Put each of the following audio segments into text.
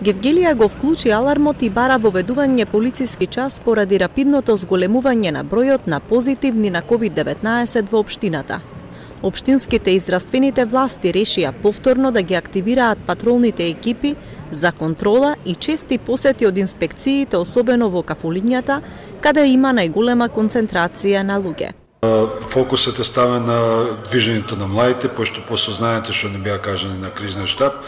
Гевгелија го вклучи алармот и бара воведување полициски час поради рапидното зголемување на бројот на позитивни на COVID-19 во општината. Општинските и здравствените власти решија повторно да ги активираат патролните екипи за контрола и чести посети од инспекциите, особено во кафулињата, каде има најголема концентрација на луѓе. Фокусот е ставен на движењето на младите, пошто по сознанието што не беа кажани на кризниот штаб,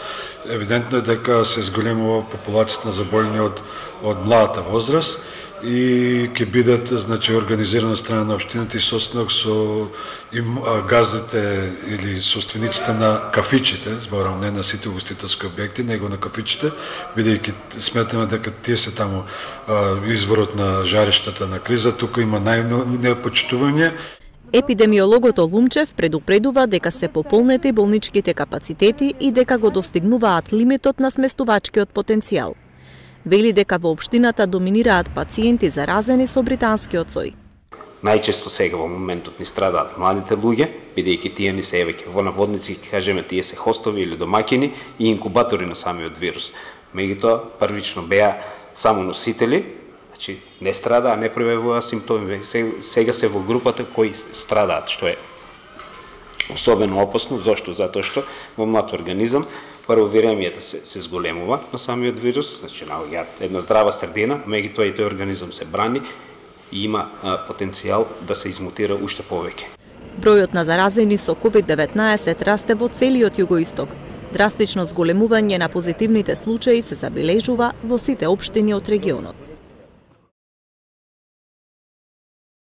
евидентно е дека се зголемува популацијата на заболени од младата возраст и ќе бидат организирана страна на општината и состанок со газдите или собствениците на кафичите, зборам не на сите угостителски објекти, него на кафичите, бидејќи сметаме дека тие се таму изворот на жариштата на криза, тука има најнепочитување. Епидемиологот Лумчев предупредува дека се пополнети болничките капацитети и дека го достигнуваат лимитот на сместувачкиот потенцијал. Вели дека во општината доминираат пациенти заразени со британскиот сој. Најчесто сега во моментот ни страдаат младите луѓе, бидејќи тие ни се евеќе во наводници, ќе кажеме, тие се хостови или домаќини и инкубатори на самиот вирус. Меѓутоа, првично беа само носители, значи не страдаа, не пројавуваа симптоми, сега се во групата кои страдаат, што е особено опасно. Зошто? Затоа што во млад организам прво виремијата се зголемува на самиот вирус, значи наоѓаат една здрава средина, меѓутоа и тој организам се брани и има потенцијал да се измутира уште повеќе. Бројот на заразени со COVID-19 расте во целиот југоисток. Драстично зголемување на позитивните случаи се забележува во сите општини од регионот.